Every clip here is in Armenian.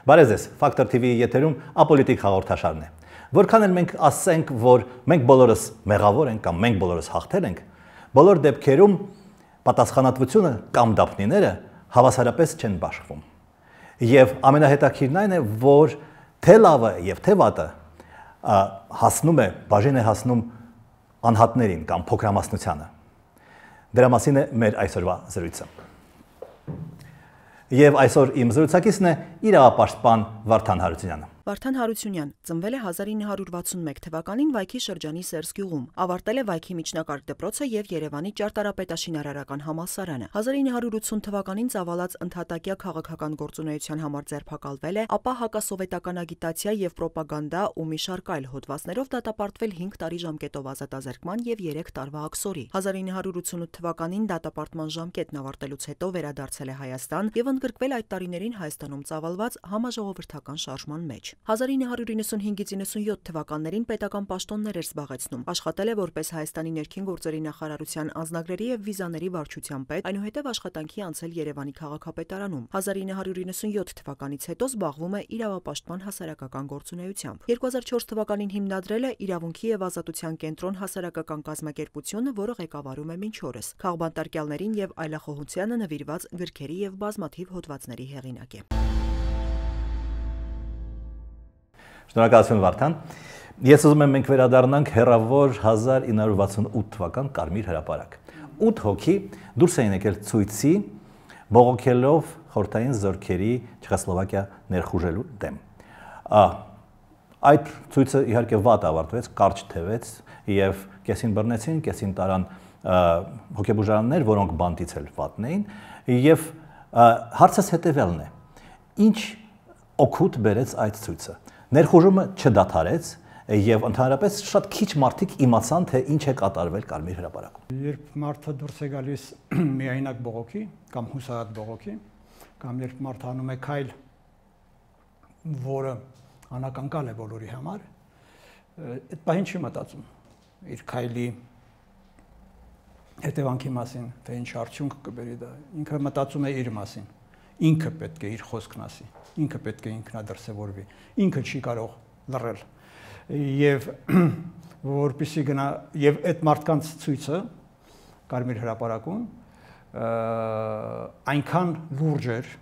Բարև ձեզ, Factor TV-ի եթերում ապոլիտիկ հաղորդաշարն է։ Որքան էլ մենք ասենք, որ մենք բոլորս մեղավոր ենք կամ մենք բոլորս հաղթել ենք, բոլոր դեպքերում պատասխանատվությունը կամ դափնիները հավասարապես չեն բաշխվում։ Եվ ամենահետաքրքիրն այն է, որ թե լավը եւ թե վատը բաժին է հասնում անհատներին կամ փոքրամասնությանը։ Դրա մասին է մեր այսօրվա զրույցը։ Եվ այսօր իմ զրուցակիցն է իրավապաշտպան Վարդան Հարությունյանը։ Վարդան Հարությունյան ծնվել է 1961 թվականին Վայքի շրջանի Սերսգյուղում, ավարտել է Վայքի միջնակարգ դպրոցը եւ Երևանի ճարտարապետաշինարարական համալսարանը։ 1980 թվականին ծավալած ընդհատակյա քաղաքական գործունեության համար ձերբակալվել է, ապա հակասովետական ագիտացիա եւ պրոպագանդա ու մի շարք այլ հոդվածներով դատապարտվել 5 տարի ժամկետով ազատազրկման եւ 3 տարվա աքսորի։ 1988 թվականին դատապարտման ժամկետն ավարտելուց հետո վերադարձել է Հայաստան եւ ընդգրկվել այդ տարիներին Հայաստանում ծավալված համաժողովրդական շարժման մեջ։ 1995-ից 97 թվականներին պետական պաշտոններ էր զբաղեցնում, աշխատել է որպես Հայաստանի ներքին գործերի նախարարության անձնագրերի եւ վիզաների վարչության պետ, այնուհետև աշխատանքի անցել Երևանի քաղաքապետարանում։ 1997 թվականից հետո զբաղվում է իրավապաշտպան հասարակական գործունեությամբ։ 2004 թվականին հիմնադրել է Իրավունքի եւ ազատության կենտրոն հասարակական կազմակերպությունը, որը ղեկավարում է մինչ օրս։ Քաղբանտարկյալներին եւ այլախոհությանը նվիրված գրքերի եւ բազմաթիվ հոդվածների հեղինակ է։ Շնորհակալություն Վարդան։ Ես ուզում եմ մենք վերադառնանք հեռավոր 1968 թվական Կարմիր հրապարակ։ 8 հոգի դուրս էին եկել ցույցի, բողոքելով խորհրդային զորքերի Չեխոսլովակիա ներխուժելու դեմ։ Այդ ցույցը իհարկե վատ ավարտվեց, կարճ թևեց եւ կեսին բռնեցին, կեսին տարան հոգեբուժարաններ, որոնք բանտից էլ վատն էին, եւ հարցս հետեւյալն է. ինչ օգուտ բերեց այդ ցույցը։ Ներխուժումը չդադարեց եւ ընդհանրապես շատ քիչ մարդիկ իմացան, թե ինչ է կատարվել Կարմիր հրապարակում։ Երբ մարդը դուրս է գալիս միայնակ բողոքի կամ հուսահատ բողոքի, կամ երբ մարդը անում է քայլ, որը անակնկալ է բոլորի համար, այդ պահին չի մտածում իր քայլի հետևանքի մասին, թե ինչ արդյունք կբերի դա։ Ինքը մտածում է իր մասին։ Ինքը պետք է իր խոսքն ասի, ինքը պետք է ինքնադրսևորվի, ինքը չի կարող լռել։ Եվ որպեսզի գնա եւ այդ մարդկանց ցույցը Կարմիր հրապարակում այնքան լուրջ էր,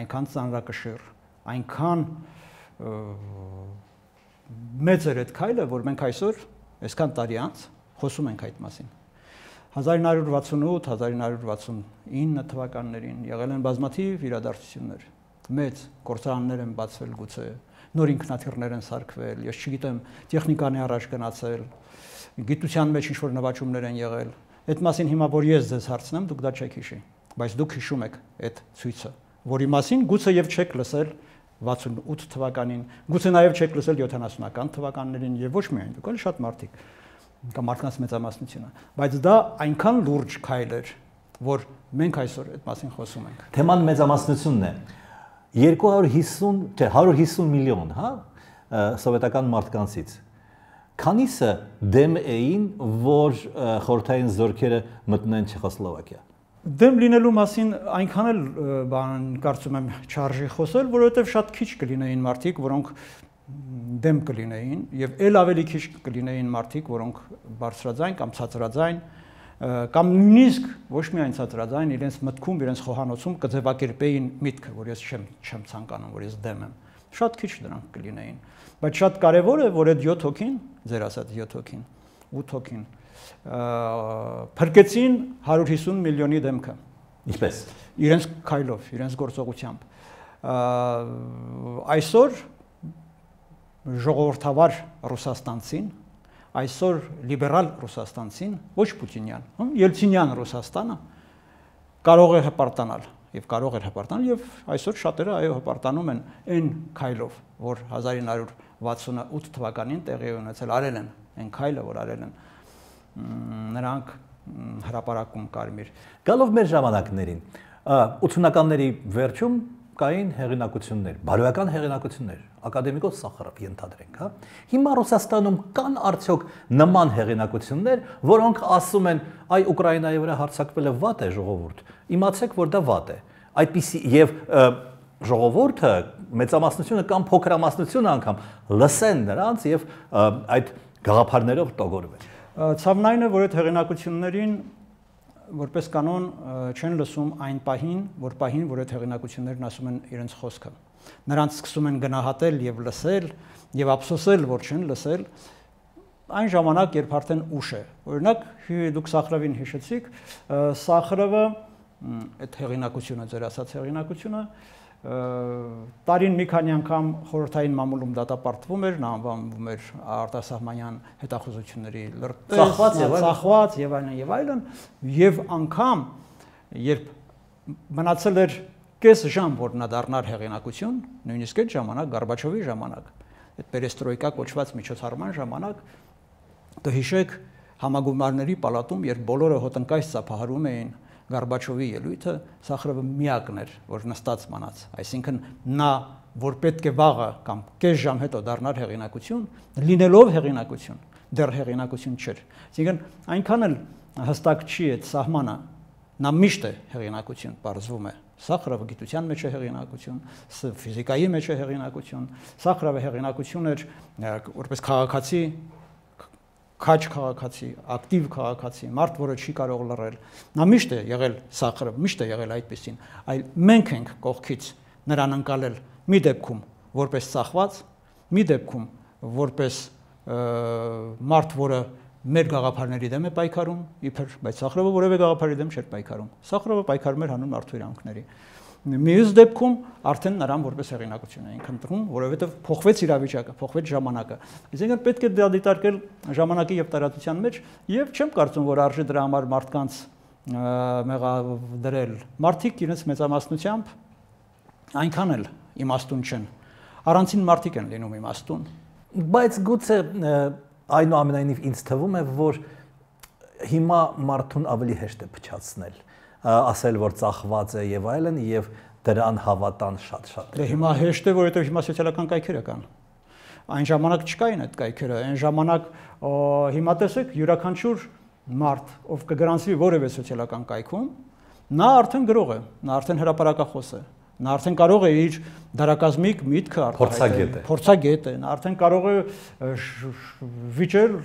այնքան ծանրակշիռ, այնքան մեծ էր այդ քայլը, որ մենք այսօր այսքան տարի անց խոսում ենք այդ մասին։ 1968-1969 թվականներին եղել են բազմաթիվ իրադարձություններ, մեծ գործարաններ են բացվել գուցե, նոր ինքնաթիռներ են սարքվել, ես չգիտեմ, տեխնիկան է առաջ գնացել, գիտության մեջ ինչ-որ նվաճումներ են եղել, այդ մասին հիմա որ ես ձեզ հարցնեմ, դուք դա չեք հիշի, բայց դուք հիշում եք այդ ցույցը, որի մասին գուցե եւ չեք լսել 68 թվականին, գուցե նաեւ չեք լսել 70-ական թվականներին եւ ոչ միայն դուք, այլ շատ մարդիկ կամ մարդկանց մեծամասնությունը, բայց դա այնքան լուրջ քայլ էր, որ մենք այսօր այդ մասին խոսում ենք։ Թեման մեծամասնությունն է։ 150 միլիոն, հա, սովետական մարդկանցից։ Քանիսը դեմ էին, որ խորհրդային զորքերը մտնեն Չեխոսլովակիա։ Դեմ լինելու մասին այնքան էլ կարծում եմ չարժի խոսել, որովհետև շատ քիչ կլինեին մարդիկ, որոնք դեմ կլինեին եւ ել ավելի քիչ կլինեին մարդիկ, որոնք բարձրաձայն կամ ցածրաձայն կամ նույնիսկ ոչ միայն ցածրաձայն իրենց մտքում, իրենց խոհանոցում կձևակերպեին միտքը, որ ես չեմ ցանկանում, որ ես դեմ եմ։ Շատ քիչ դրանք կլինեին, բայց շատ կարեւոր է, որ այդ 7 հոգին, ձեր ասած 7 հոգին, 8 հոգին փրկեցին 150 միլիոնի դեմքը։ Ինչպես։ Իրենց քայլով, իրենց գործողությամբ։ Այսօր ժողովրդավար ռուսաստանցին, այսօր լիբերալ ռուսաստանցին, ոչ պուտինյան, ելցինյան Ռուսաստանը կարող է հպարտանալ եւ կարող էր հպարտանալ եւ այսօր շատերը այո հպարտանում են այն քայլով, որ 1968 թվականին տեղի ունեցել, արել են այն քայլը, որ արել են նրանք հրապարակում Կարմիր։ Գալով մեր ժամանակներին, 80-ականների վերջում կային հեղինակություններ, բարոյական հեղինակություններ, ակադեմիկոս Սախարով ենթադրենք, հա։ Հիմա Ռուսաստանում կան արդյոք նման հեղինակություններ, որոնք ասում են, այ Ուկրաինայի վրա հարձակվելը վատ է ժողովուրդ, իմացեք, որ դա վատ է։ Այդպիսի եւ ժողովուրդը, մեծամասնությունը կամ փոքրամասնությունը անգամ լսեն նրանց եւ այդ գաղափարներով տոգորվեն։ Ցավն այն է, որ այդ հեղինակություններին որպես կանոն չեն լսում այն պահին, որ այդ հեղինակություններն ասում են իրենց խոսքը։ Նրանց սկսում են գնահատել եւ լսել եւ ափսոսել, որ չեն լսել այն ժամանակ, երբ արդեն ուշ է։ Օրինակ, դուք Սախրովին հիշեցիք, Սախրովը այդ հեղինակությունը, ձեր ասած հեղինակությունը տարին մի քանի անգամ խորհրդային մամուլում դատապարտվում էր, նա անվանվում էր արտասահմանյան հետախուզությունների լրտես, ծախված եւ այլն, եւ անգամ երբ մնացել էր կես ժամ, որ նա դառնար հեղինակություն, նույնիսկ այդ ժամանակ Գորբաչովի ժամանակ, այդ պերեստրոյկա կոչված միջոցառման ժամանակ, կհիշեք համագումարների պալատում, երբ բոլորը հոտնկայս ծափահարում էին Գորբաչովի ելույթը, Սախրովը միակն էր, որ նստած մնաց, այսինքն նա, որ պետք է վաղը կամ կես ժամ հետո դառնար հեղինակություն, լինելով հեղինակություն, դեռ հեղինակություն չէր։ Այսինքն այնքան էլ հստակ չի այդ սահմանը, նա միշտ է հեղինակություն, պարզվում է։ Սախրովը գիտության մեջ է հեղինակություն, ֆիզիկայի մեջ է հեղինակություն, Սախրովը հեղինակություն էր որպես քաղաքացի, քաչ քաղաքացի, ակտիվ քաղաքացի, մարդ, որը չի կարող լռել։ Նա միշտ է եղել Սախրով, միշտ է եղել այդպեսին, այլ մենք ենք կողքից նրան ընկալել մի դեպքում որպես ծախված, մի դեպքում որպես մարդ, որը մեր գաղափարների դեմ է պայքարում, իբր, բայց Սախրովը որևէ գաղափարի դեմ չէր պայքարում։ Սախրովը պայքարում էր հանուն մարդու իրանքների։ Մյուս դեպքում արդեն նրան որպես հեղինակություն էին քննարկում, որովհետև փոխվեց իրավիճակը, փոխվեց ժամանակը։ Այսինքն պետք է դա դիտարկել ժամանակի եւ տարածության մեջ, եւ չեմ կարծում, որ արժի դրա համար մարդկանց մեղադրել։ Մարդիկ իրենց մեծամասնությամբ այնքան էլ իմաստուն չեն։ Առանցին մարդիկ են լինում իմաստուն։ Բայց գուցե այնուամենայնիվ ինձ թվում է, որ հիմա մարդուն ավելի հեշտ է փչացնել, ասել, որ ծախված է եւ այլն, եւ դրան հավատան շատ-շատ։ Դե հիմա հեշտ է, որովհետեւ հիմա սոցիալական կայքերը կան։ Այն ժամանակ չկային այդ կայքերը, այն ժամանակ հիմա տեսեք յուրաքանչյուր մարդ, ով կգրանցվի որևէ սոցիալական կայքում, նա արդեն գրող է, նա արդեն հրապարակախոս է, նա արդեն կարող է իր դարակազմիկ միտքը արտահայտել, փորձագետ է, նա արդեն կարող է վիճել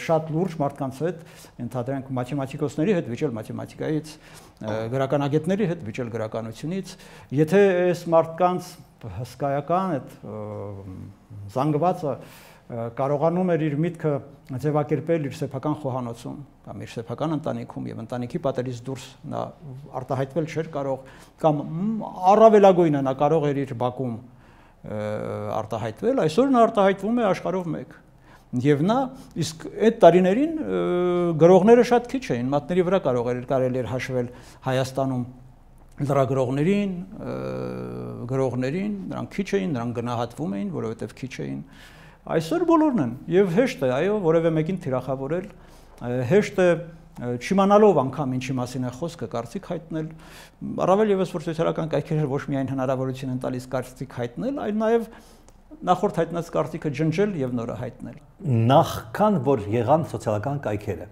շատ լուրջ մարդկանց հետ, ընդհանրենք մաթեմատիկոսների հետ վիճել մաթեմատիկայից, գրականագետների հետ վիճել գրականությունից, եթե այս մարդկանց հսկայական այդ զանգվածը կարողանում էր իր միտքը ձևակերպել իր սեփական խոհանոցում կամ իր սեփական ընտանիքում եւ ընտանիքի պատերից դուրս նա արտահայտվել չէր կարող կամ առավելագույնը նա կարող էր իր բակում արտահայտվել, այսօր նա արտահայտվում է աշխարհով մեկ եւ նա իսկ այդ տարիներին գրողները շատ քիչ էին, մատների վրա կարելի էր հաշվել Հայաստանում լրագրողներին, գրողներին, նրանք քիչ էին, նրանք գնահատվում էին, որովհետեւ քիչ էին։ Այսօր բոլորն են եւ հեշտ է, այո, որևէ մեկին թիրախավորել, հեշտ է չիմանալով անգամ ինչի մասին է խոսքը կարծիք հայտնել, առավել եւս որ սոցիալական կայքերը ոչ միայն հնարավորություն են տալիս կարծիք հայտնել, այլ նաեւ նախորդ հայտնած կարծիքը ջնջել եւ նորը հայտնել։ Նախքան որ եղան սոցիալական կայքերը,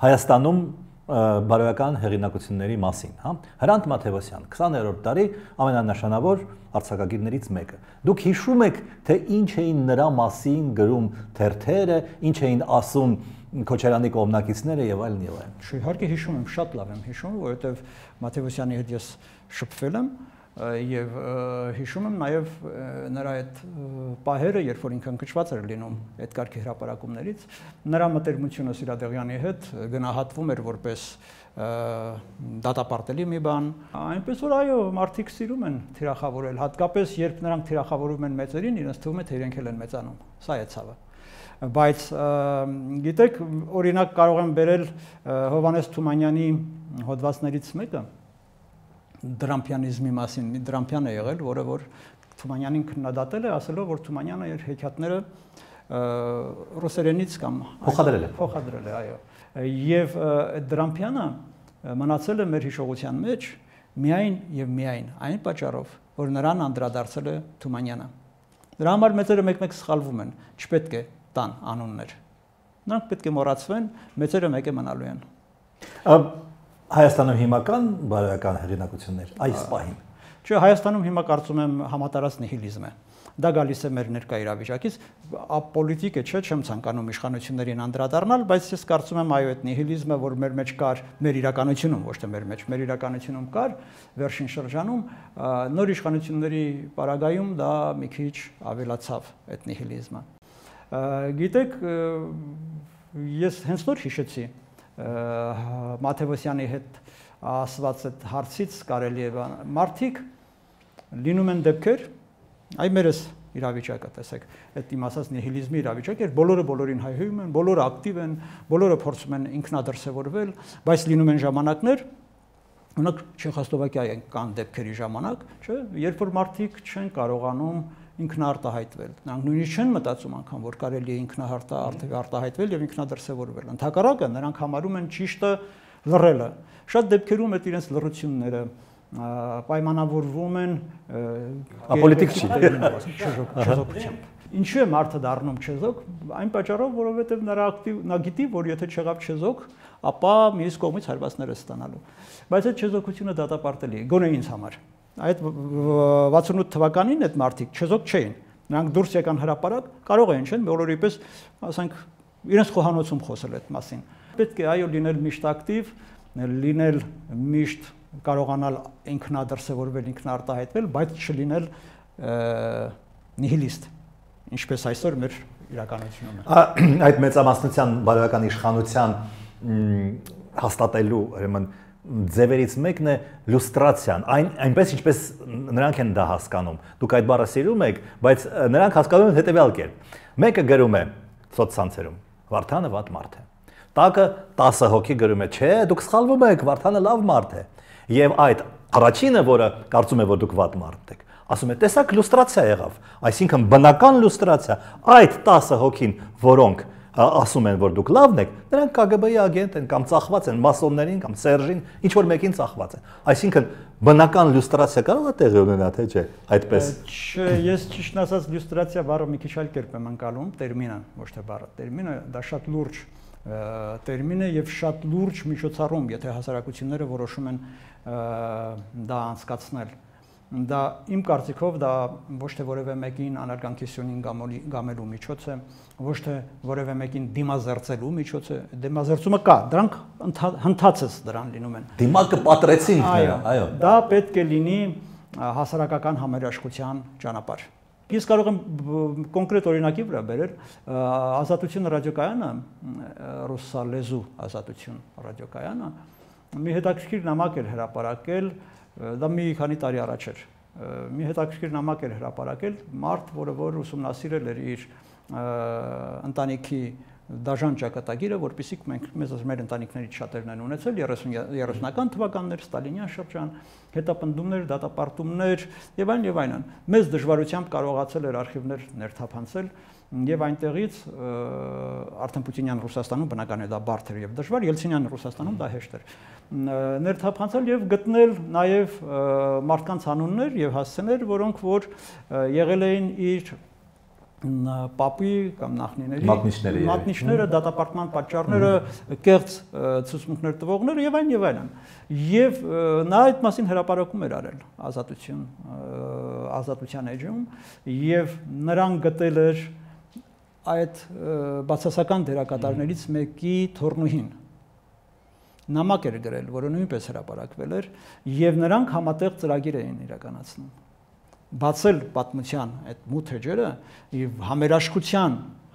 Հայաստանում բարոյական հեղինակությունների մասին, հա, Հրանտ Մաթևոսյան, 20-րդ դարի ամենանշանավոր արձակագիրներից մեկը։ Դուք հիշում եք, թե ինչ էին նրա մասին գրում թերթերը, ինչ էին ասում Քոչարյանի կողմնակիցները եւ այլն եւ այլն։ Իհարկե հիշում եմ, շատ լավ եմ հիշում, որովհետեւ Մաթևոսյանի հետ ես շփվել եմ եւ հիշում եմ նաեւ նրա այդ պահերը, երբ որ ինքն կճված էր լինում այդ կարգի հրապարակումներից, նրա մտերմությունը Սիրադեղյանի հետ գնահատվում էր որպես դատապարտելի մի բան, այնպես որ այո, մարդիկ սիրում են թիրախավորել, հատկապես երբ նրանք թիրախավորում են մեծերին, իրենց թվում է թե իրենք էլ են մեծանում, սա է ցավը։ Բայց գիտեք, օրինակ կարող եմ բերել Հովհաննես Թումանյանի հոդվածներից մեկը դրամպյանիզմի մասին, մի դրամպյան է եղել, որը որ Թումանյանին քննադատել է, ասելով, որ Թումանյանը իր հեքիաթները ռուսերենից կամ փոխադրել է, այո։ Եվ դրամպյանը մնացել է մեր հիշողության մեջ միայն եւ միայն այն պատճառով, որ նրան անդրադարձել է Թումանյանը։ Դրա համար մեծերը մեկ-մեկ սխալվում են, չպետք է տան անուններ։ Նրանք պետք է մոռացվեն, մեծերը մեկ է մնալու են։ Հայաստանում հիմական բարոյական հեղինակություններ այս պահին։ Չէ, Հայաստանում հիմա կարծում եմ համատարած նիհիլիզմ է։ Դա գալիս է մեր ներկա իրավիճակից, ապոլիտիկ է, չէ, չեմ ցանկանում իշխանություններին անդրադառնալ, բայց ես կարծում եմ այո, այդ նիհիլիզմը, որ մեր մեջ կար, մեր իրականությունում, ոչ թե մեր մեջ, մեր իրականությունում կար վերջին շրջանում, նոր իշխանությունների պարագայում դա մի քիչ ավելացավ այդ նիհիլիզմը։ Գիտեք, ես հենց նոր հիշեցի Մաթևոսյանի հետ ասված այդ հարցից կարելի է մարդիկ լինում են դեպքեր, այ մերս իրավիճակը տեսեք, այդ իմ ասած նիհիլիզմի իրավիճակ էր, բոլորը բոլորին հայհոյում են, բոլորը ակտիվ են, բոլորը փորձում են ինքնադրսևորվել, բայց լինում են ժամանակներ, օրինակ Չեխոսլովակիայի կան դեպքերի ժամանակ, չէ, երբ որ մարդիկ չեն կարողանում ինքնարտահայտվել, նրանք նույնիսկ չեն մտածում անգամ, որ կարելի է ինքնարտահայտվել եւ ինքնադրսևորվել, ընդհակառակը նրանք համարում են ճիշտը լռելը, շատ դեպքերում այդ իրենց լռությունները պայմանավորվում են ապոլիտիկ չի չեզոքությամբ։ Ինչու է մարդը դառնում չեզոք, այն պատճառով, որովհետև նա գիտի, որ եթե չեղավ չեզոք, ապա մյուս կողմից հարվածներ է ստանալու։ Բայց այդ չեզոքությունը դատապարտելի է, գոնե ինձ համար։ Այդ 68 թվականին այդ մարդիկ չեզոք չէին։ Նրանք դուրս եկան հրապարակ, կարող էին, չէ՞, բոլորի պես, ասենք, իրենց խոհանոցում խոսել այդ մասին։ Պետք է այո լինել միշտ ակտիվ, լինել միշտ կարողանալ ինքնադրսևորվել, ինքնարտահայտվել, բայց չլինել նիհիլիստ, ինչպես այսօր մեր իրականությունում է։ Այդ մեծամասնության բարոյական իշխանության հաստատելու ուրեմն ձևերից մեկն է լուստրացիան, այնպես ինչպես նրանք են դա հասկանում։ Դուք այդ բառը սիրում եք, բայց նրանք հասկանում են հետևյալ կերպ։ Մեկը գրում է սոցցանցերում. Վարդանը վատ մարդ է։ Տակը 10 հոգի գրում է. Չէ, դուք սխալվում եք, Վարդանը լավ մարդ է։ Եվ այդ առաջինը, որը կարծում է, որ դուք վատ մարդ եք, ասում է, տեսակ լուստրացիա եղավ, այսինքն բնական լուստրացիա, այդ 10 հոգին, որոնք ասում են, որ դուք լավն եք, նրանք KGB-ի ագենտ են կամ ծախված են մասոններին կամ Սերժին, ինչ որ մեկին ծախված են։ Այսինքն բնական լուստրացիա կարող է տեղի ունենալ, թե չէ, այդպես։ Չէ, ես ճիշտն ասած լյուստրացիա բառը մի քիչ այլ կերպ եմ անցալում, տերմինը, ոչ թե բառը։ Տերմինը դա շատ լուրջ տերմին է եւ շատ լուրջ միջոցառում, եթե հասարակությունները որոշում են դա անցկացնել։ Դա իմ կարծիքով դա ոչ թե որևէ մեկին անարգանքեսյունին գամելու միջոց է, ոչ թե որևէ մեկին դիմազերծելու միջոց է, դիմազերծումը կա, դրանք հնդածս դրան լինում են։ Դիմակը պատրեցինք նրա, այո։ Դա պետք է լինի հասարակական համերաշխության ճանապարհ։ Ես կարող եմ կոնկրետ օրինակի վրա բերել Ազատություն ռադիոկայանը, ռուսալեզու Ազատություն ռադիոկայանը մի հետաքրքիր նամակ էր հրապարակել, դա մի քանի տարի առաջ էր։ Մի հետաքրքիր նամակ էր հրապարակել մարդ, որը ուսումնասիրել էր իր ընտանիքի դաժան ճակատագիրը, որպեսզի մեր ընտանիքներից շատերն են ունեցել 30-ական թվականներ, Ստալինյան շրջան, հետապնդումներ, դատապարտումներ եւ այլն։ Մեծ դժվարությամբ կարողացել էր արխիվներ ներթափանցել եւ այնտեղից արդեն Պուտինյան Ռուսաստանում բնական է դա բարդ էր եւ դժվար, Ելցինյան Ռուսաստանում դա հեշտ էր։ Ներթափանցել եւ գտնել նաեւ մարդկանց անուններ եւ հասցեներ, որոնք որ եղել էին իր պապի կամ նախնիների մատնիչները, դատապարտման պատճառները, կեղծ ցուցմունքներ տվողները եւ այլն։ Եվ նա այդ մասին հրապարակում էր արել ազատության էջում եւ նրան գտել էր այդ բացասական դերակատարներից մեկի թորնուհին։ Նամակ էր գրել, որը նույնպես հրապարակվել էր եւ նրանք համատեղ ծրագիր էին իրականացնում։ Բացել պատմության այդ մութ էջերը եւ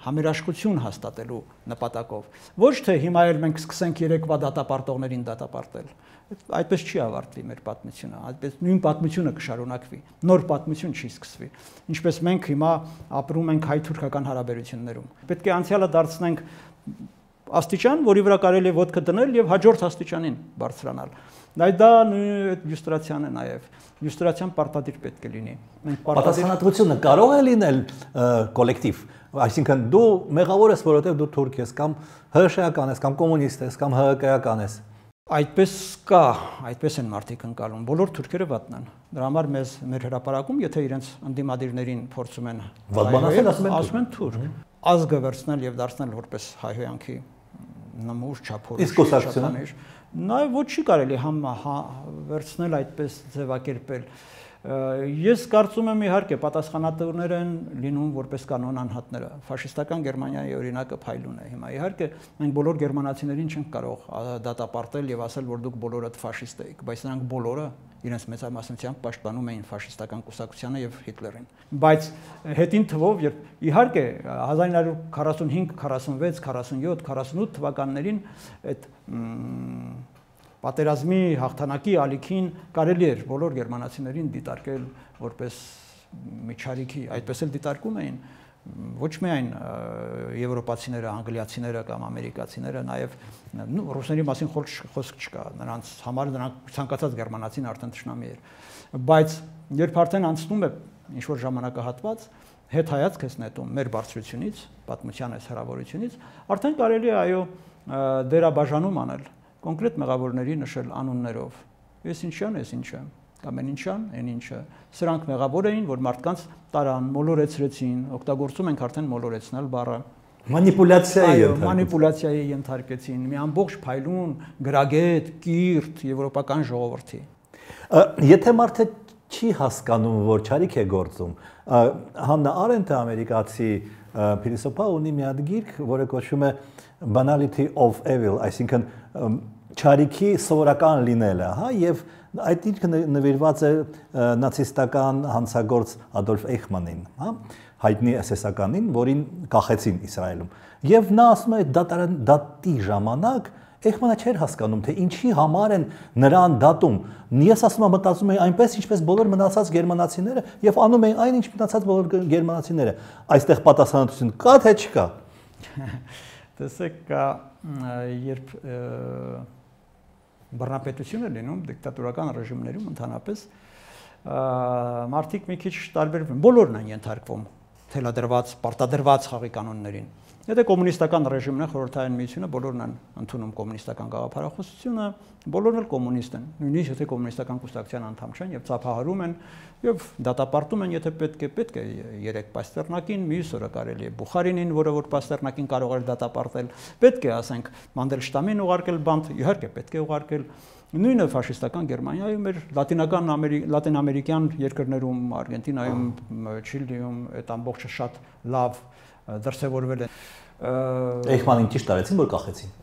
համերաշխություն հաստատելու նպատակով։ Ոչ թե հիմա էլ մենք սկսենք երեկվա դատապարտողներին դատապարտել։ Այդպես չի ավարտվի մեր պատմությունը, այդպես նույն պատմությունը կշարունակվի, նոր պատմություն չի սկսվի։ Ինչպես մենք հիմա ապրում ենք հայ-թուրքական հարաբերություններում։ Պետք է անցյալը դարձնենք աստիճան, որի վրա կարելի է ոտքը դնել եւ հաջորդ աստիճանին բարձրանալ։ Դա լյուստրացիան է նաեւ։ Լյուստրացիան պարտադիր պետք է լինի։ Պատասխանատվությունը կարող է լինել կոլեկտիվ, այսինքն դու մեղավոր ես, որովհետեւ դու թուրք ես կամ ՀՇ-ական ես կամ կոմունիստ ես կամ ՀԿ-ական ես։ Այդպես կա, այդպես են մարդիկ ընկալում։ Բոլոր թուրքերը վատն են։ Դրա համար մեր հրապարակում, եթե իրենց ընդդիմադիրներին փորձում են ասում են թուրք, ազգը վերցնել եւ դարձնել որպես հայհոյանքի նմուշ չափորոշ։ Իսկ կուսակցությունը Նաև ոչ չի կարելի վերցնել այդպես ձևակերպել։ Ես կարծում եմ իհարկե պատասխանատուներ են լինում որպես կանոն անհատները։ Ֆաշիստական Գերմանիայի օրինակը փայլուն է հիմա։ Իհարկե մենք բոլոր գերմանացիներին չենք կարող դատապարտել եւ ասել, որ դուք բոլորդ ֆաշիստ եք, բայց նրանք բոլորը իրենց մեծամասնությամբ պաշտպանում էին ֆաշիստական կուսակցությանը եւ Հիտլերին։ Բայց հետին թվով, երբ իհարկե 1945, 46, 47, 48 թվականներին այդ պատերազմի հաղթանակի ալիքին կարելի էր բոլոր գերմանացիներին դիտարկել որպես միջարիքի, այդպես էլ դիտարկում էին ոչ միայն եվրոպացիները, անգլիացիները կամ ամերիկացիները, նաև ռուսների մասին խոսք չկա, նրանց համար նրանք ցանկացած գերմանացին արդեն թշնամի էր, բայց երբ արդեն անցնում է ինչ որ ժամանակահատված, հետ հայացք ես նետում մեր բարձրությունից, պատմության այս հեռավորությունից, արդեն կարելի է այո դերաբաժանում անել, կոնկրետ մեղավորների նշել անուններով, ես ինչան, ես ինչը, կամ են ինչան, են ինչը, սրանք մեղավոր էին, որ մարդկանց տարան, մոլորեցրեցին, օգտագործում ենք արդեն մոլորեցնել բառը, մանիպուլյացիայի ենթարկեցին, մի ամբողջ փայլուն, գրագետ, կիրթ եվրոպական ժողովրդի։ Եթե մարդը չի հասկանում, որ չարիք է գործում, Հաննա Արենթը ամերիկացի փիլիսոփա ունի մի հատ գիրք, որը կոչվում է Banality of Evil, այսինքն չարիքի սովորական լինելը, հա, եւ այդ գիրքը նվիրված է նացիստական հանցագործ Ադոլֆ Էյխմանին, հա, հայտնի SS-ականին, որին կախեցին Իսրայելում։ Եվ նա ասում է դատի ժամանակ Էյխմանը չէր հասկանում, թե ինչի համար են նրան դատում։ Ես ասում եմ, մտածում էի այնպես, ինչպես բոլոր մնացած գերմանացիները եւ անում էին այն, ինչ մնացած բոլոր գերմանացիները։ Այստեղ պատասխանատվություն կա թե չկա։ Տեսեք, երբ բռնապետություն է լինում դիկտատորական ռեժիմներում ընդհանրապես մարդիկ մի քիչ տարբերվում, բոլորն են ենթարկվում թելադրված, պարտադրված խաղի կանոններին։ Եթե կոմունիստական ռեժիմն է, խորհրդային միությունը, բոլորն են ընդունում կոմունիստական գաղափարախոսությունը, բոլորն էլ կոմունիստ են, նույնիսկ եթե կոմունիստական կուսակցության անդամ չեն եւ ծափահարում են եւ դատապարտում են, եթե պետք է 3 Պաստեռնակին, մյուս օրը կարելի է Բուխարինին, որը որ Պաստեռնակին կարող էր դատապարտել, պետք է ասենք Մանդելշտամին ուղարկել բանտ, իհարկե պետք է ուղարկել նույնը ֆաշիստական Գերմանիայում էր, լատինամերիկյան երկրներում, Արգենտինայում, Չիլիում այդ ամբողջը շատ լավ դրսևորվել է։ Էյխմանին ճիշտ արեցին, որ կախեցին։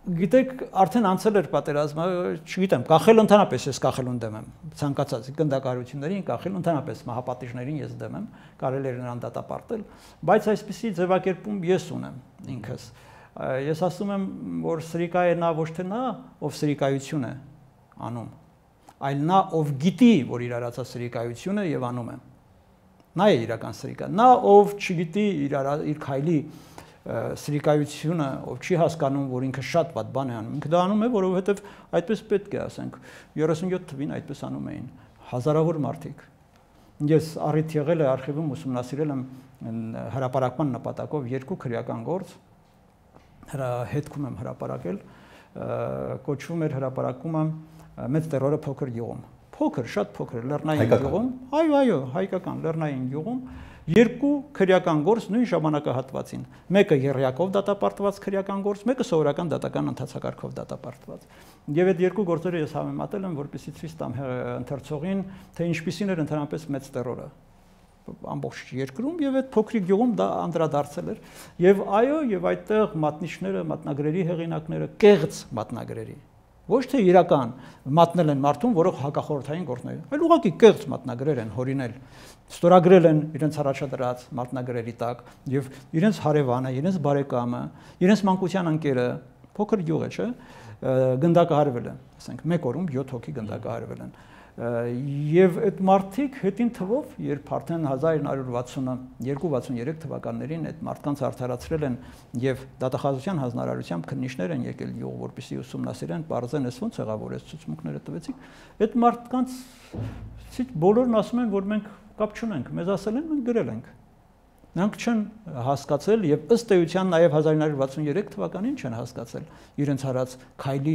Գիտեք, արդեն անցել էր պատերազմը, չգիտեմ, կախել ընդհանրապես ես կախելուն դեմ եմ, ցանկացած գնդակահարություններին կախել ընդհանրապես մահապատիժներին ես դեմ եմ, կարելի էր նրան դատապարտել, բայց այսպիսի ձևակերպում ես ունեմ ինքս։ Ես ասում եմ, որ սրիկա է նա ոչ թե նա, ով սրիկայություն է անում, այլ նա, ով գիտի, որ իր արածած սրիկայություն է եւ անում է։ Նա է իրական սրիկա, նա ով չգիտի իր քայլի սրիկայությունը, ով չի հասկանում, որ ինքը շատ վատ բան է անում, ինքը դա անում է, որովհետև այդպես պետք է ասենք, 37 թվին այդպես անում էին հազարավոր մարդիկ։ Ես առիթ եղել է արխիվում ուսումնասիրել եմ հրապարակման նպատակով 2 քրեական գործ, հետքում եմ հրապարակել, կոչվում էր հրապարակումը մեծ տերորը փոքր գյուղում։ Փոքր, շատ փոքր, լեռնային գյուղում, այո, հայկական լեռնային գյուղում 2 քրեական գործ նույն ժամանակահատվածին։ Մեկը եռյակով դատապարտված քրեական գործ, մեկը սովորական դատական ընթացակարգով դատապարտված։ Եվ այդ 2 գործերը ես համեմատել եմ, որպեսզի ցույց տամ ընթերցողին, թե ինչպիսին էր ընդհանրապես մեծ տերորը ամբողջ երկրում եւ այդ փոքրիկ գյուղում դա անդրադարձել էր եւ այո եւ այդտեղ մատնիչները, մատնագրերի հեղինակները կեղծ մատնագրերի ոչ թե իրական մատնել են մարդուն, որը հակախորհրդային գործներ, այլ ուղղակի կեղծ մատնագրեր են հորինել, ստորագրել են իրենց առաջադրած մատնագրերի տակ եւ իրենց հարևանը, իրենց բարեկամը, իրենց մանկության ընկերը, փոքր գյուղ է, չէ՞, գնդակահարվել են, ասենք 1 օրում 7 հոգի գնդակահարվել են։ Եվ այդ մարդիկ հետին թվով, երբ արդեն 1962-63 թվականներին այդ մարդկանց արդարացրել են եւ դատախազության հանրարարությամբ քննիչներ են եկել յուղ, որպեսզի ուսումնասիրեն, բարձեն էս ոնց եղավ, որ այս ցուցմունքները տվեցիք, այդ մարդկանց բոլորն ասում են, որ մենք կապ չունենք, մեզ ասել են, մենք գրել ենք։ Նրանք չեն հասկացել եւ ըստ էության նաեւ 1963 թվականին չեն հասկացել իրենց հարած քայլի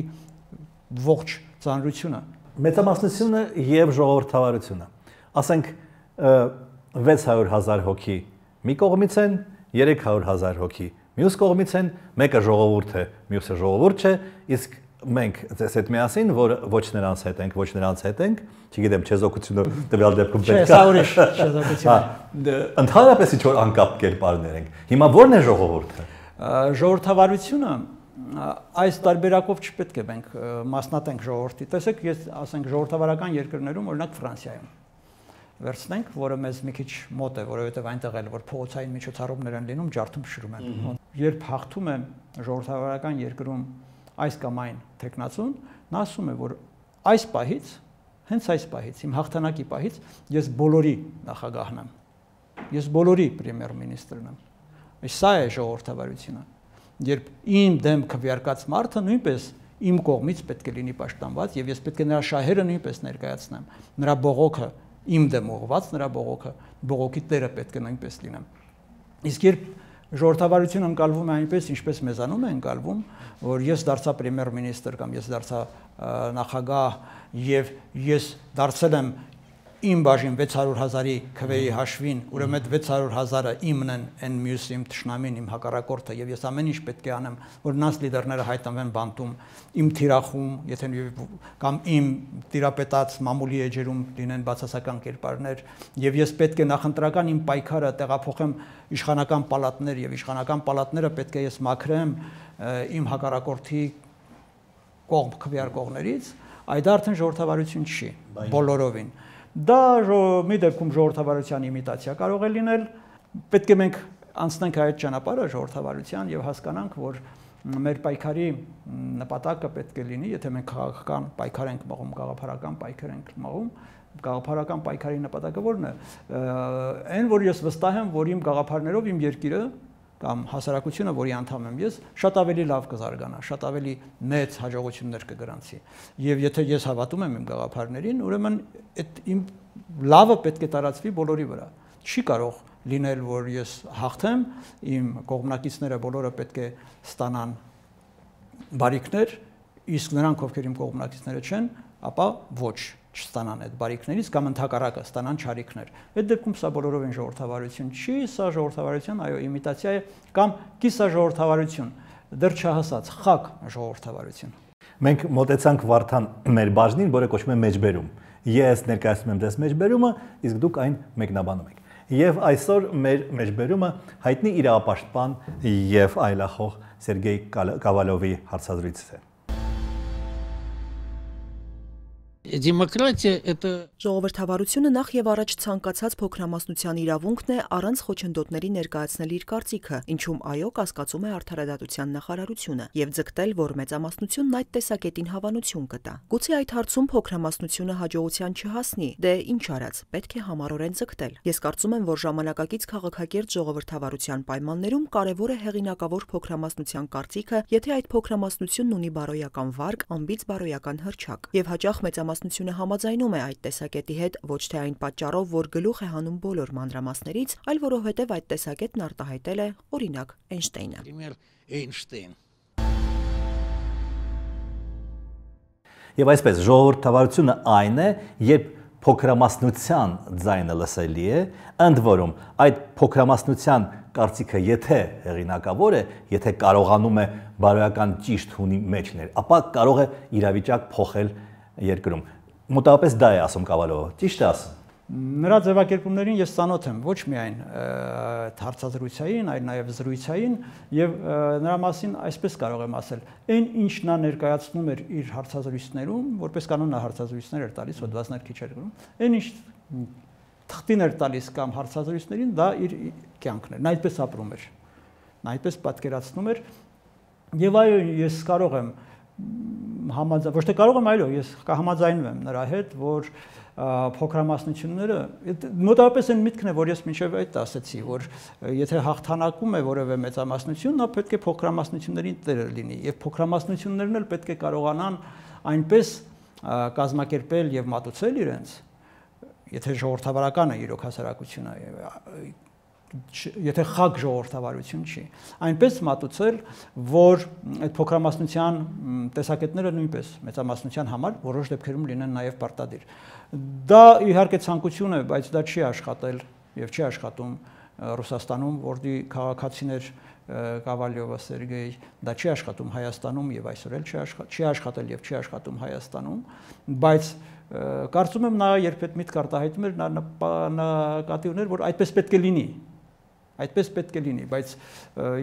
ողջ ծանրությունը։ Մեծամասնությունը եւ ժողովրդավարությունը։ Ասենք 600,000 հոգի մի կողմից են, 300,000 հոգի մյուս կողմից են, մեկը ժողովուրդ է, մյուսը ժողովուրդ չէ, իսկ մենք ձեզ հետ միասին, որ ոչ նրանց հետ ենք, չգիտեմ, չեզոքությունը տվյալ դեպքում պետք է։ Չէ, սա ուրիշ չեզոքություն։ Ընդհանրապես ինչ որ անկապ կերպարներ ենք։ Հիմա ո՞րն է ժողովուրդը։ Ժողովրդավարությունը այս տարբերակով չպետք է մենք մասնատենք ժողովրդի։ Տեսեք, ես ասենք ժողովրդավարական երկրներում, օրինակ Ֆրանսիայում վերցնենք, որը մեզ մի քիչ մոտ է, որովհետև այնտեղ էլ որ փողոցային միջոցառումներ են լինում, ջարդում փշրում են։ Երբ հաղթում է ժողովրդավարական երկրում այս կամ այն տեխնացուն, նա ասում է, որ այս պահից, հենց այս պահից, իմ հաղթանակի պահից ես բոլորի նախագահն եմ։ Ես բոլորի պրեմիեր-մինիստրն եմ։ Սա է ժողովրդավարությունը։ Երբ իմ դեմ քվեարկած մարդը նույնպես իմ կողմից պետք է լինի պաշտպանված եւ ես պետք է նրա շահերը նույնպես ներկայացնեմ։ Նրա բողոքը իմ դեմ ուղղված, նրա բողոքի տերը պետք է նույնպես լինեմ։ Իսկ երբ ժողովրդավարությունը ընկալվում է այնպես, ինչպես մեզանում է ընկալվում, որ ես դարձա պրեմիեր-մինիստր կամ ես դարձա նախագահ եւ ես դարձել եմ իմ բաժին 600,000-ի քվեի հաշվին, ուրեմն այդ 600,000-ը իմն են, այն մյուս իմ թշնամին, իմ հակառակորդը եւ ես ամեն ինչ պետք է անեմ, որ նրանց լիդերները հայտնվեն բանտում, իմ թիրախում, եթե կամ իմ տիրապետած մամուլի էջերում լինեն բացասական կերպարներ եւ ես պետք է նախընտրական իմ պայքարը տեղափոխեմ իշխանական պալատներ եւ իշխանական պալատները պետք է ես մաքրեմ իմ հակառակորդի կողմ քվեարկողներից, այդ արդեն ժողովրդավարություն չի, բոլորովին։ Դա մի դեպքում ժողովրդավարության իմիտացիա կարող է լինել, պետք է մենք անցնենք այդ ճանապարհը ժողովրդավարության եւ հասկանանք, որ մեր պայքարի նպատակը պետք է լինի, եթե մենք քաղաքական պայքար ենք մղում, գաղափարական պայքար ենք մղում, գաղափարական պայքարի նպատակը ո՞րն է։ Այն, որ ես վստահ եմ, որ իմ գաղափարներով իմ երկիրը կամ հասարակությունը, որի անդամ եմ ես, շատ ավելի լավ կզարգանա, շատ ավելի մեծ հաջողություններ կգրանցի։ Եվ եթե ես հավատում եմ իմ գաղափարներին, ուրեմն այդ իմ լավը պետք է տարածվի բոլորի վրա։ Չի կարող լինել, որ ես հաղթեմ, իմ կողմնակիցները բոլորը պետք է ստանան բարիքներ, իսկ նրանք, ովքեր իմ կողմնակիցները չեն, ապա ոչ չստանան այդ բարիքներից կամ ընդհակառակը ստանան չարիքներ։ Այդ դեպքում սա բոլորովին ժողովրդավարություն չի, սա ժողովրդավարության, այո, իմիտացիա է կամ կիսաժողովրդավարություն, դեռ չհասած խակ ժողովրդավարություն։ Մենք մոտեցանք Վարդան մեր բաժնին, որը կոչվում է մեջբերում։ Ես ներկայացնում եմ ձեզ մեջբերումը, իսկ դուք այն մեկնաբանում եք։ Եվ այսօր մեր մեջբերումը հայտնի իրավապաշտպան եւ այլախոհ Սերգեյ Կավալովի հարցազրույցն է։ Демократия – это… Ժողովրդավարությունը նախ եւ առաջ ցանկացած փոքրամասնության իրավունքն է առանց խոչընդոտների ներկայացնել իր կարծիքը, ինչում այո կասկածում է արդարադատության նախարարությունը եւ ձգտել, որ մեծամասնությունն այդ տեսակետին հավանություն կտա։ Գուցե այդ հարցում փոքրամասնությունը հաջողության չհասնի, դե ինչ արած, պետք է համառորեն ձգտել։ Ես կարծում եմ, որ ժամանակակից քաղաքակիրթ ժողովրդավարության պայմաններում կարևոր է հեղինակավոր փոքրամասնության կարծիքը, եթե այդ փոքրամասնությունն ունի բարոյական վարկ, անբիծ բարոյական հռչակ եւ հաճախ մեծամասնությունը համաձայնում է այդ տեսակետի հետ ոչ թե այն պատճառով, որ գլուխ է հանում բոլոր մանրամասներից, այլ որովհետև այդ տեսակետն արտահայտել է օրինակ Էյնշտեյնը։ Եվ այսպես ժողովրդավարությունը այն է, երբ փոքրամասնության ձայնը լսելի է, ընդ որում այդ փոքրամասնության կարծիքը եթե հեղինակավոր է, եթե կարողանում է բարոյական ճիշտ հունի մեջներ, ապա կարող է իրավիճակ փոխել երկրում։ Մոտավորապես դա է ասում Կավալովը, ճիշտ է ասում։ Նրա ձևակերպումներին ես ծանոթ եմ ոչ միայն հարցազրույցային, այլ նաև զրույցային եւ նրա մասին այսպես կարող եմ ասել, այն ինչ նա ներկայացնում էր իր հարցազրույցներում, որպես կանոն նա հարցազրույցներ էր տալիս, հոդվածներ քիչ էր գրում, այն ինչ թղթին էր տալիս կամ հարցազրույցներին, դա իր կյանքն էր, նա այդպես ապրում էր, նա այդպես պատկերացնում էր եւ այո, ես կարող եմ ոչ թե կարող եմ, այո, ես կհամաձայնվեմ եմ նրա հետ, որ փոքրամասնությունները մոտավորապես այն միտքն է, որ ես մինչև այդ ասացի, որ եթե հաղթանակում է որևէ մեծամասնություն, նա պետք է փոքրամասնություններին տերը լինի եւ փոքրամասնություններն էլ պետք է կարողանան այնպես կազմակերպել եւ մատուցել իրենց, եթե ժողովրդավարական է իրոք հասարակությունը, եթե խակ ժողովրդավարություն չի, այնպես մատուցել, որ այդ փոքրամասնության տեսակետները նույնպես մեծամասնության համար որոշ դեպքերում լինեն նաև պարտադիր։ Դա իհարկե ցանկություն է, բայց դա չի աշխատել եւ չի աշխատում Ռուսաստանում, որտեղ քաղաքացիներ Կավալյովը Սերգեյ, դա չի աշխատում Հայաստանում եւ այսօր էլ չի աշխատել եւ չի աշխատում Հայաստանում, բայց կարծում եմ նա երբ այդ միտք արտահայտում էր, նա նկատի ուներ, որ այդպես պետք է լինի։ Այդպես պետք է լինի, բայց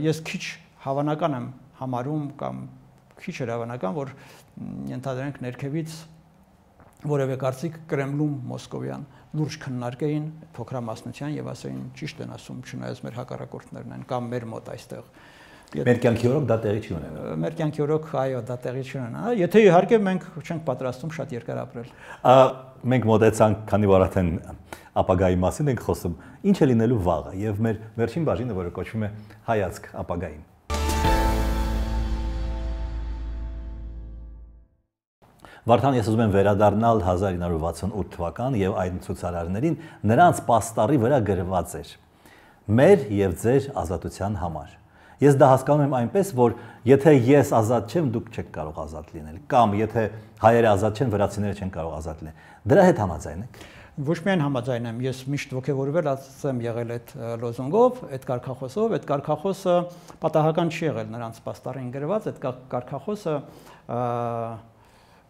ես քիչ հավանական եմ համարում կամ քիչ էր հավանական, որ ենթադրենք ներքևից որևէ կարծիք Կրեմլում մոսկովյան լուրջ քննարկեին փոքրամասնության եւ ասեին ճիշտ են ասում, չնայած մեր հակառակորդներն են կամ մեր մոտ այստեղ։ Մեր կյանքի օրոք դա տեղի չի ունենա։ Մեր կյանքի օրոք այո, դա տեղի չի ունենա, եթե իհարկե մենք չենք պատրաստում շատ երկար ապրել։ Մենք մոտեցանք, քանի որ արդեն ապագայի մասին ենք խոսում, ինչ է լինելու վաղը եւ մեր վերջին բաժինը, որը կոչվում է հայացք ապագային։ Վարդան, ես ուզում եմ վերադառնալ 1968 թվական եւ այն ցուցարարներին, նրանց պաստառի վրա գրված էր. մեր եւ ձեր ազատության համար։ Ես դա հասկանում եմ այնպես, որ եթե ես ազատ չեմ, դուք չեք կարող ազատ լինել, կամ եթե հայերը ազատ չեն, վրացիները չեն կարող ազատ լինել։ Դրա հետ համաձայն եք։ Ոչ միայն համաձայն եմ, ես միշտ ոգևորվել եմ եղել այդ լոզունգով, այդ կարգախոսով, այդ կարգախոսը պատահական չի եղել նրանց պաստառին գրված, այդ կարգախոսը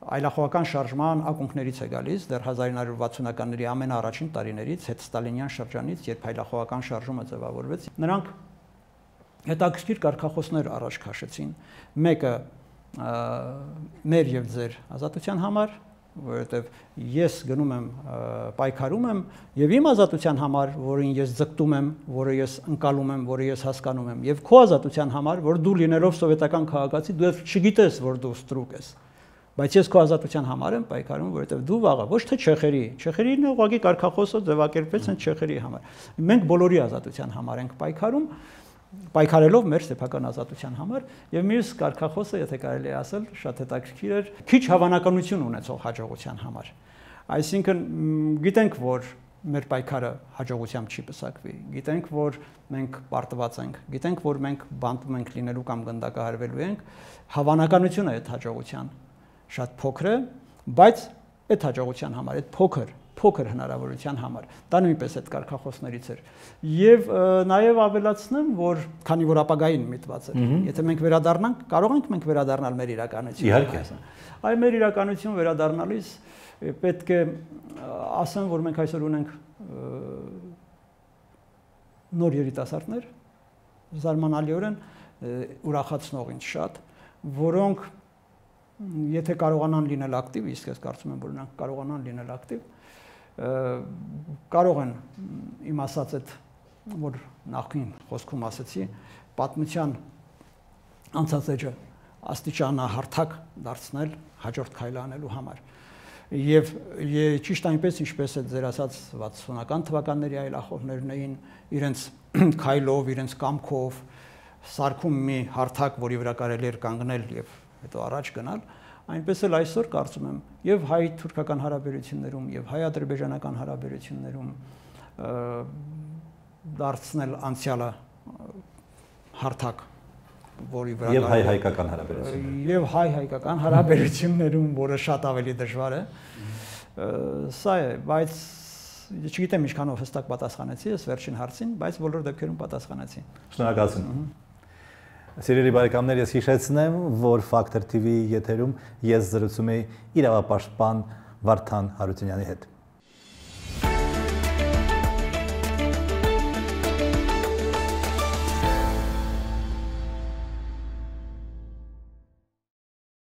այլախոհական շարժման ակունքներից է գալիս, դեռ 1960-ականների ամենաառաջին տարիներից, հետ ստալինյան շրջանից, երբ այլախոհական շարժումը ձևավորվեց, նրանք հետաքրքիր կարգախոսներ առաջ քաշեցին։ Մեկը մեր եւ ձեր ազատության համար, որովհետեւ ես գնում եմ պայքարում եմ եւ իմ ազատության համար, որին ես ձգտում եմ, որը ես ընկալում եմ, որը ես հասկանում եմ, եւ քո ազատության համար, որ դու լինելով սովետական քաղաքացի, դու չգիտես, որ դու ստրուկ ես։ Բայց ես քո ազատության համար եմ պայքարում, որովհետև դու վաղը ոչ թե չեխերին ուղղակի կարգախոսը ձևակերպեց են չեխերի համար։ Մենք բոլորի ազատության համար ենք պայքարում, պայքարելով մեր սեփական ազատության համար, եւ մյուս կարգախոսը, եթե կարելի է ասել, շատ հետաքրքիր էր, քիչ հավանականություն ունեցող հաջողության համար։ Այսինքն գիտենք, որ մեր պայքարը հաջողությամբ չի պսակվի, գիտենք, որ մենք պարտված ենք, գիտենք, որ մենք բանտում ենք լինելու կամ գնդակահարվելու ենք, հավանականությունը այդ հաջողության շատ փոքր է, բայց այդ հաջողության համար, այդ փոքր հնարավորության համար, դա նույնպես այդ կարգախոսներից էր։ Եվ նաև ավելացնեմ, որ քանի որ ապագային միտված էր, եթե մենք վերադառնանք, կարող ենք մենք վերադառնալ մեր իրականություն։ Իհարկե։ Այ մեր իրականություն վերադառնալիս պետք է ասեմ, որ մենք այսօր ունենք նոր երիտասարդներ, զարմանալիորեն ուրախացնող ինձ շատ, որոնք եթե կարողանան լինել ակտիվ, իսկ ես կարծում եմ, որ նրանք կարողանան լինել ակտիվ, կարող են իմ ասած այդ, որ նախքին խոսքում ասեցի, պատմության անցած էջը աստիճանահարթակ դարձնել հաջորդ քայլը անելու համար։ Եվ ճիշտ այնպես, ինչպես է ձեր ասած 60-ական թվականների այլախոհներն էին իրենց քայլով, իրենց կամքով սարքում մի հարթակ, որի վրա կարելի էր կանգնել եւ հետո առաջ գնալ, այնպես էլ այսօր կարծում եմ եւ հայ-թուրքական հարաբերություններում եւ հայ-ադրբեջանական հարաբերություններում դարձնել անցյալը հարթակ, որի վրա եւ հայ-հայկական հարաբերություններ եւ հայ-հայկական հարաբերություններում, որը շատ ավելի դժվար է, սա է, բայց չգիտեմ ինչքանով հստակ պատասխանեցի ես վերջին հարցին, բայց բոլոր դեպքերում պատասխանեցի։ Շնորհակալություն։ Սիրելի բարեկամներ, ես հիշեցնեմ, որ Factor TV եթերում ես զրուցում եի իրավապաշտպան Վարդան Հարությունյանի հետ։